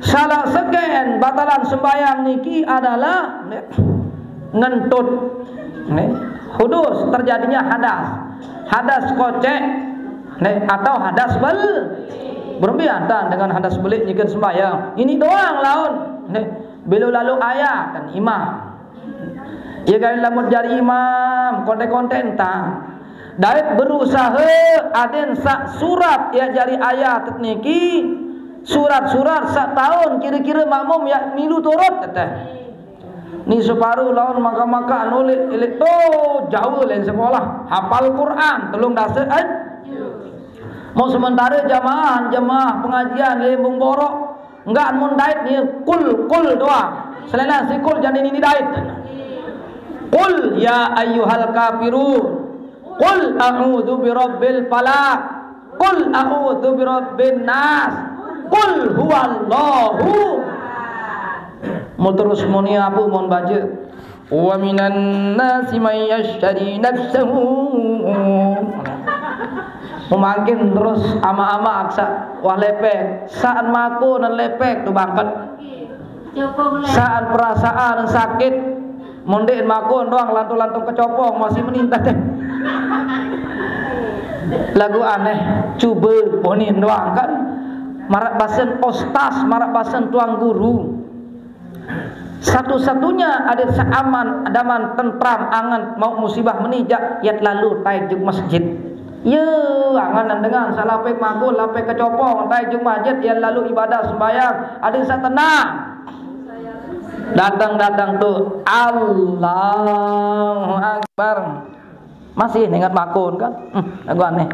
Salah seken batalan sembahyang niki adalah ngentut. Nggih. Hudus, terjadinya hadas. Hadas kocek, nggih, atau hadas bel-, Berembe atan dengan hadas belik nyeken sembahyang. Ini doang laun. Nih, belo lalu ayat kan imam. Ye kan lamun jari imam, konten-konten entah. Dait berusaha aden sak surat ya jari ayat niki, surat-surat sak taun kira-kira makmum ya milu turut teteh. Ni separuh laun maka-maka nulis ilik tu jauh lain sekolah, hafal Quran, telung dasa aj. Mau sementara jamaah, jamaah pengajian lembung borok, enggak mun dait ni kul, kul doang. Selain si kul jadi ini dait. Qul ya ayyuhal kafirun. Qul a'udzu birabbil falaq. Qul a'udzu birabbin nas. Qul huwallahu. Mau terus muni apa mau baca? Wa minan nasi may yashtari nafsahu. Memakin terus ama-ama aksa wah lepek. Saan mako nan lepek tu bangket. Saan perasaan sakit. Mondek mako doang lantung-lantung kecopong masih menintah teh. Lagu aneh, coba ponin doang kan. Marak basen ostas, marak basen tuang guru. Satu-satunya adat seaman, daman, tentram, angan, mau musibah menijak, yat lalu taik juk masjid. Ye, angan dengan salapek magul, lapek kecopong, taik juk masjid, yat lalu ibadah sembahyang, adat sa tenang. Datang-datang tu, Allahu Akbar. Masih ingat makun kan? Hmm, lagu aneh.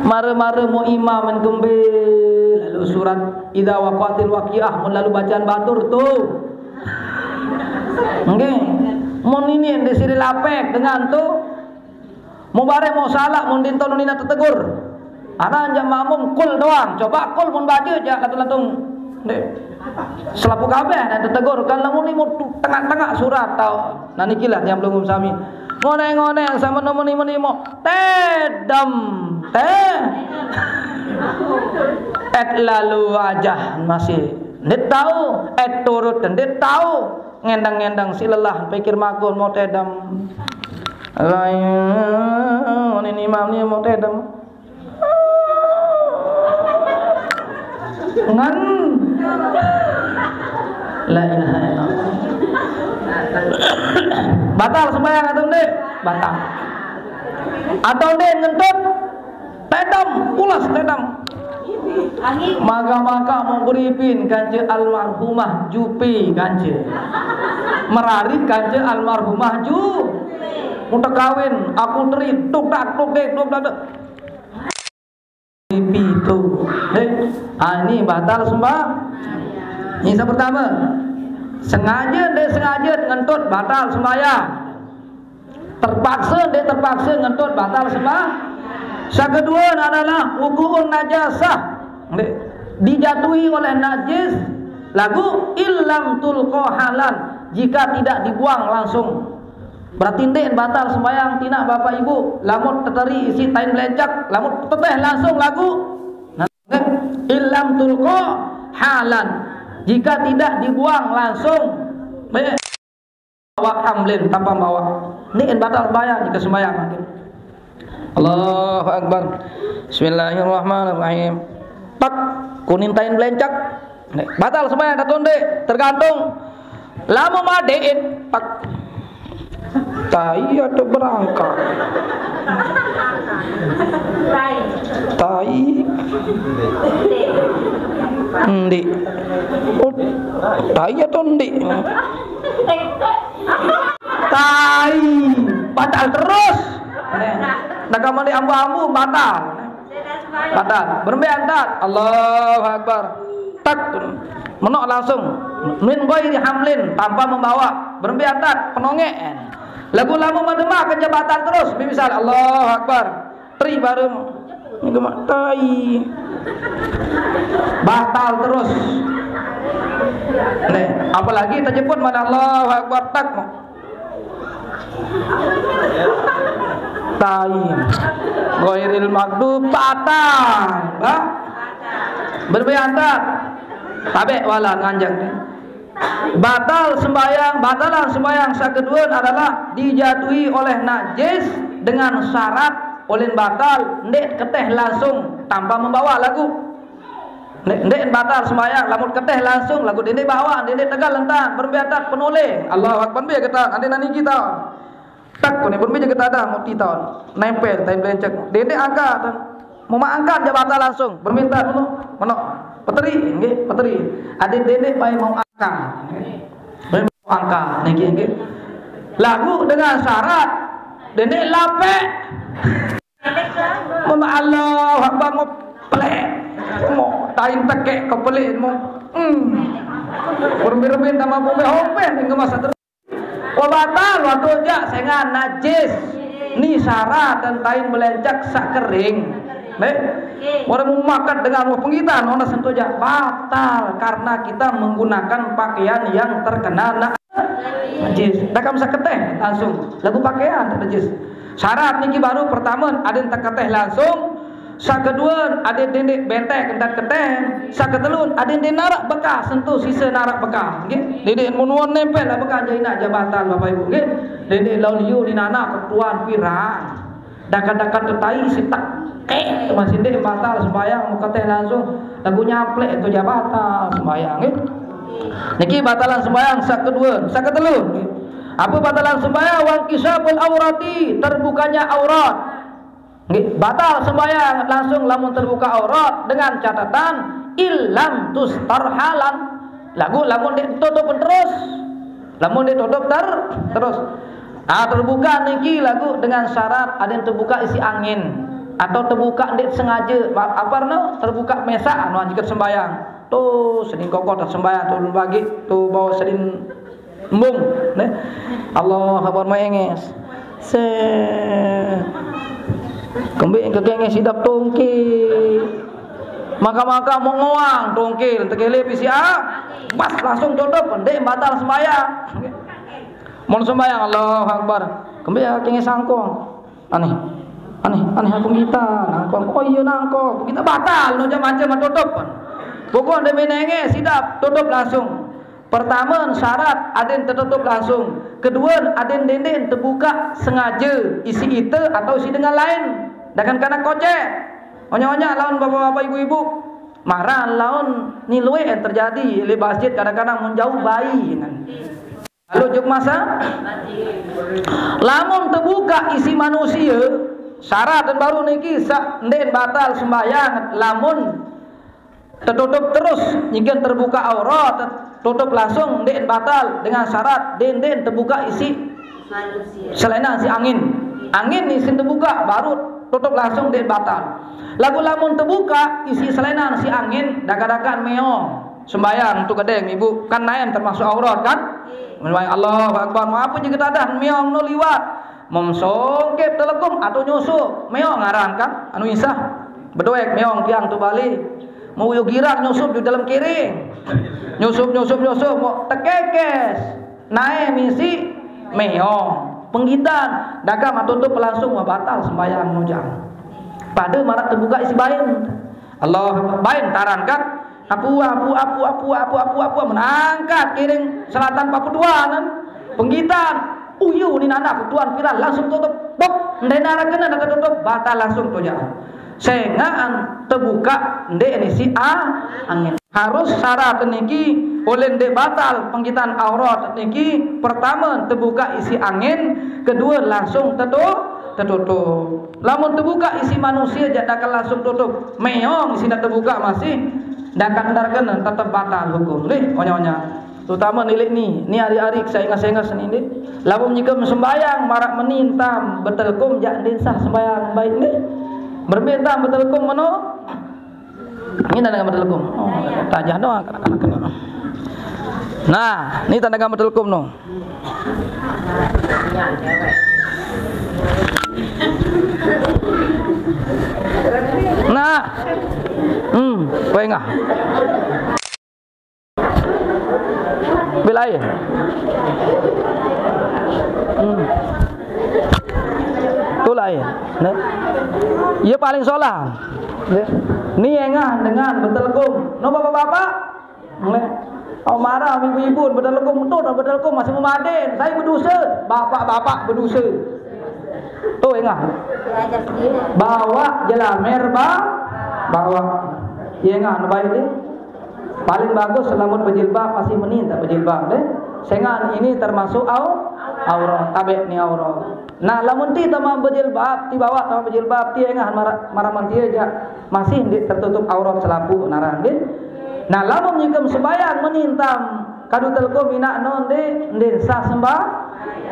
Mare-mare mau imam men kembe, lalu surat idza waqatil waqiah mun lalu bacaan batur tu. Nggih. Mun ini yang disiri lapek dengan tu. Mau bare mau salah mun dinto nina tetegur. Ana anjak makmum kul doang. Coba kul mun baca jak latung-latung. Dek. Selapu kabeh dan tetegur kan lamun ni mau tengah-tengah surat tau. Nah nikilah yang belum sami. Ngoneng-ngoneng sama nemu nemu nemu. Tedem. Teh. Et lalu aja masih. Ndet tahu. Et turut ndet tahu. Ngendang-ngendang si lelah pikir makun mau tedem. Lain ini imam ni mau tedem. Ngan. La ilaha illallah. Batal sembahyang atau ndik? Batal. Atau ndik ngentut? Tedam, pulas tedam. Maka-maka mau beripin kance almarhumah Jupi kance. Merari kance almarhumah Ju. Udah kawin, aku teri, tuk tak, tuk dek, tuk tak. Pitu. Hei, ah, ini batal sembah. Ini yang pertama. Sengaja, dia sengaja ngentut batal sembahyang. Terpaksa, dia terpaksa ngentut batal sembah. Yang kedua adalah wuku'un najasah. Dijatuhi oleh najis lagu illam tulqa halan, jika tidak dibuang langsung. Berarti ndik batal sembahyang tina bapak ibu, lamun teteri isi tain belencak, lamun teteh langsung lagu. Nah, illam tulqa halan, jika tidak dibuang langsung. Baik. Bawa hamlin tanpa bawa. Ndik batal sembahyang jika sembahyang mungkin. Allahu Akbar. Bismillahirrahmanirrahim. Tak kuning tain belencak. Batal sembahyang tak tundik, tergantung. Lama madein, tak. Tai atau berangka? Tai. Ndik. Oh, tai atau ndik? Tai. Batal terus. Nah, kamu di ambu-ambu batal. Batal. Berembe antat. Allahu Akbar. Tak. Menok langsung. Min ghairi hamlin, tanpa membawa. Berembe antat. Penongek. Lagu lama madema kerja batal terus. Misal Allahu Akbar. Tri baru. Ini gemak tai. Batal terus. Nih, apalagi terjemput mana Allahu Akbar tak. Tai. Ghairil maghdub batal. Bah. Berembe antat. Tabek wala nganjang ni. Batal sembahyang, batalan sembahyang yang kedua adalah dijatuhi oleh najis dengan syarat oleh batal ndik keteh langsung tanpa membawa lagu. Ndeq, ndeq batal sembahyang, lamun keteh langsung, laguq dendeq bawaq, dendeq tegal entan, berembe atat penoleh. Allahu Akbar, mbe getan, ande nani kita. Tak kone berembe je getan dah, muti taun. Nempel, tain belencek. Dendeq angkat. Mau mak angkat je batal langsung. Berembe entan meno, meno. Peteri, nggih, peteri. Ade dendeq bae mau angkat. Bae mau angkat, niki, nggih. Laguq dengan syarat, dendeq lapek. Mun Allahu Akbar, mau pelek. Mau tain tekek ke pelek, mau. Hmm. Berembe-rembe tambah bombe, hopeh, minggu masa terus. Wah, batal, wah, tojaq, sengaq najis. Ni syarat dan tain belencek saq kering. Nggih. Orang memakat dengan wah pengitan, orang sentojaq, batal karena kita menggunakan pakaian yang terkena na-, najis. Dah kamu saketeh langsung. Laguq pakaian tak najis. Syarat niki baru pertama, aden teketeh langsung. Saq kedue, aden dendeq bentek entan keteh. Saq ketelun, aden dendeq naraq bekas, sentuh sise naraq bekas. Nggih. Dendeq mun wah nempel lah bekas, jaq inaq jaq batal, Bapak Ibu. Nggih. Dendeq laun iu ni nanak ketuan piran. Dakat-dakat tetai sitak. Eh, masih ndeq batal sembahyang, mau keteh langsung. Laguq nyaplek tu jaq batal sembahyang, nggih. Niki batalan sembahyang saq kedue, saq ketelun. Apa batalan sembahyang? Wangkisyaful aurati, terbukanya aurat. Nggih, batal sembahyang langsung lamun terbuka aurat dengan catatan illam tustar halan. Laguq lamun ndeq tutup terus. Lamun ndeq tutup ter-, terus. Ah, terbuka niki laguq dengan syarat aden tebuka isiq angin atau tebuka ndeq sengaje. Apa no? Terbuka mesaq anu anjeket sembahyang. Tu senin kokoh tak sembahyang, tu bagi tu bawa senin embung, neh. Allah Akbar, menges. Se. Kembe kekenges idap tongke. Maka-maka mau ngoang tongke, tekele P C A. Pas langsung tutup, ndeq batal sembahyang. Mun sembahyang, Allahu Akbar. Kembe ya kenges sangkong. Aneh. Aneh, aneh aku kita, nangkong. Oh iya nangkong. Kita batal, no jam aja mah tutup. Pokok ndeq menenge, sidap, tutup langsung. Pertama, syarat aden tetutup langsung. Kedua, aden denden tebuka sengaja isi ite atau isi dengan lain. Dengan kanak kocek. Onya-onya lawan bapak-bapak, ibu-ibu. Marah lawan ni luwih yang terjadi di masjid, kadang-kadang mun jauh bayi. Lalu juk masa, lamun tebuka isi manusia, syarat dan baru niki saq ndeqn batal sembahyang lamun tetutup terus, nyigen terbuka aurat, tutup langsung ndeqn batal dengan syarat denden tebuka isi selainan si angin. Angin isin tebuka, baru tutup langsung ndeqn batal. Laguq lamun tebuka isi selainan si angin, dakan-dakan meong. Sembahyang tu gedeng, Ibu, kan naem termasuk aurat, kan? Menyembahyang Allahu Akbar, mau apa je ketadah meong no liwat. Memsongkep telekum atau nyusup, meong aran, kan? Anu insah. Bedoek meong tiang tu balik. Mau uyu girang nyusup di dalam kiring. Nyusup, nyusup, nyusup, mau tekekes. Nae misi meong. Penggitan, dagang atau tu pelangsung wah batal sembahyang nujang. Pada marak terbuka isi bain. Allah bain taran kan. Apu, apu, apu, apu, apu, apu, apu, menangkat kiring selatan papuduan. Penggitan, uyu ni nanak tuan piran langsung tutup. Bok, ndai narak kena tutup, batal langsung tu jangan. Sengaan tebuka ndeq nisi a-, angin. Harus syarat niki, oleh ndeq batal penggitan aurat niki, pertama tebuka isi angin, kedua langsung tetu-, tetutup. Lamun tebuka isi manusia jak dakal langsung tutup, meong isi ndak tebuka masih, dakal ndarkene tetep batal hukum. Nggih, onya-onya. Terutama nilik ni, ni ari-ari seingas-ingas ni, nggih. Lamun nyike sembahyang marak meni entam betelkum jak ndin sah sembahyang baik, nggih. Berembe entam betelkum meno? Ni tanda gambar telekom. Oh, tajah doang kanak-kanak kena. Nah, ni tanda gambar telekom no. Nah. Hmm, pengah. Bila air. Hmm. Itulah air. Nah. Ia paling solah. Ya. Ni engah dengan betelekum. No bapak-bapak? Nggih. Au marah ibu-ibu betelekum tu, betelekum masih memaden. Saya berdosa, bapak-bapak berdosa. Tu engah. Bawa jelamer ba-, bawa. Iengah baik deh. Paling bagus lamun bejilbab masih meni tak bejilbab deh. Senggan ini termasuk au, aurat, tabek ni aurat. Nah, lamun ti tama bejilbab, ti bawa tama bejilbab, ti engah mara-, maraman ti ja masih ndik tertutup aurat selapu naran deh. Nah, lamun nyikem sembayang meni entam kadu telko minak non deh, ndik sah sembah.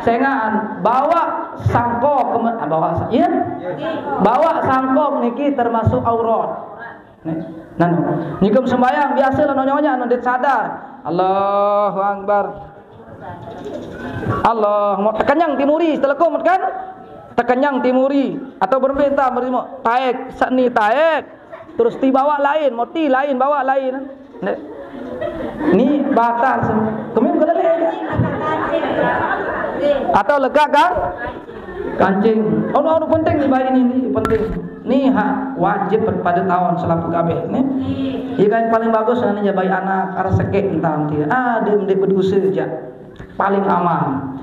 Senggan bawa sangkok keme-, ah, bawa sa-, iya? Bawa sangkok niki termasuk aurat. Nih, nanu. Nyikem sembayang biasa lah nyonya nundit sadar. Allahu Akbar. Allah, mau tekenyang timuri, telekum kan? Tekenyang timuri atau berembe entam beri mau taek, seni taek. Terus ti bawa lain, mau ti lain bawa lain. Nek. Ni batal sem-, kami bukan lele. Atau lega kan? Kancing. Oh, no, no, penting ni bayi ni, ni penting. Ni hak wajib pada tahun selaku kabeh ni. Iya kan paling bagus ni ya bayi anak, arah sekek entah nanti. Ah, dia mendek berdosa je. Paling aman.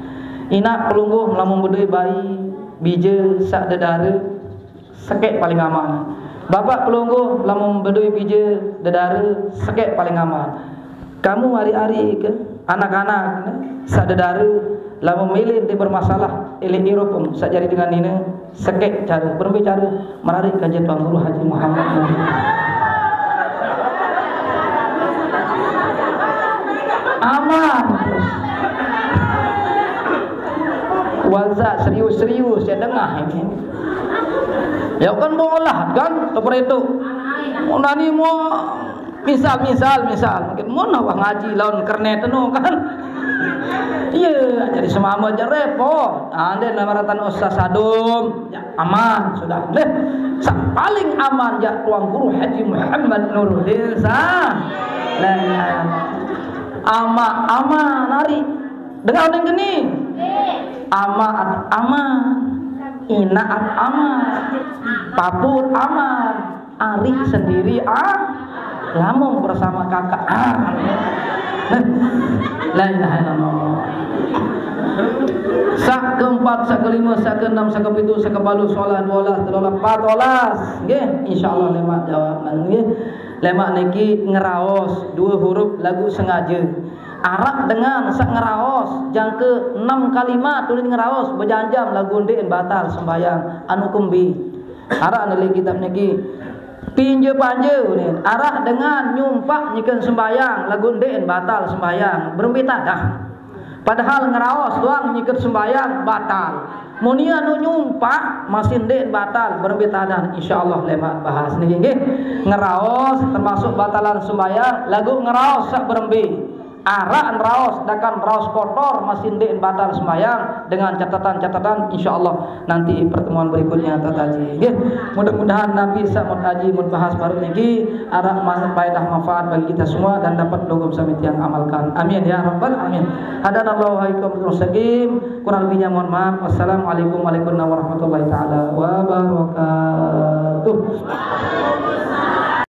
Inak pelungguh melamun bedui bayi, bija, sak dedara, sekek paling aman. Bapak pelungguh lamun bedui bija dedara, sekek paling aman. Kamu hari-hari ke anak-anak sak dedara lamun milih di bermasalah ilik irup sak jari dengan nina, sekek cara, berembe cara, merarik kaji Tuan Guru Haji Muhammad Nuri. Aman. Waza serius-serius ya dengah ini. Ya kan bolah kan seperti itu. Nani mau misal, misal, misal, mungkin mun awak ngaji lawan kernet tu kan. Iya, jadi semama je repot. Ande nama ratan ustaz sadum, ya aman sudah. Deh, sa-, paling aman ya Tuan Guru Haji Muhammad Nuruddin sa. Nah, ama, ama nari. Dengar ning geni. Ama at aman. Ina at aman. Papur aman. Ari sendiri ah. Lamun bersama kakak ah. La ilaha illallah. Sak keempat, sak kelima, sak keenam, sak kepitu, sak kebalu, solah, dua belas, telolah, empat belas. Nggih, insyaallah lemak jawab nggih. Lemak niki ngeraos dua huruf lagu sengaja. Arak dengan sak ngeraos jangka enam kalimat ulin ngeraos bejanjam lagu ndik batal sembayang anu kembi. Arak neli kitab niki pinja panja ulin. Arak dengan nyumpak nyiken sembayang lagu ndik batal sembayang. Berembe tadah. Padahal ngeraos doang nyiken sembayang batal. Muni anu nyumpak masih ndik batal berembe tadah. Insyaallah lemak bahas niki nggih. Ngeraos termasuk batalan sembayang lagu ngeraos sak berembe. Arak neraos, dakan neraos kotor, masih ndik batal sembahyang dengan catatan-catatan, insyaallah nanti pertemuan berikutnya tataji. Nggih, mudah-mudahan Nabi sa mut aji mut bahas baru niki arak man-, faedah manfaat bagi kita semua dan dapat dogom sami tiang amalkan. Amin ya rabbal alamin. Hadanallahu wa iyyakum mustaqim. Kurang lebihnya mohon maaf. Wassalamualaikum warahmatullahi taala wabarakatuh.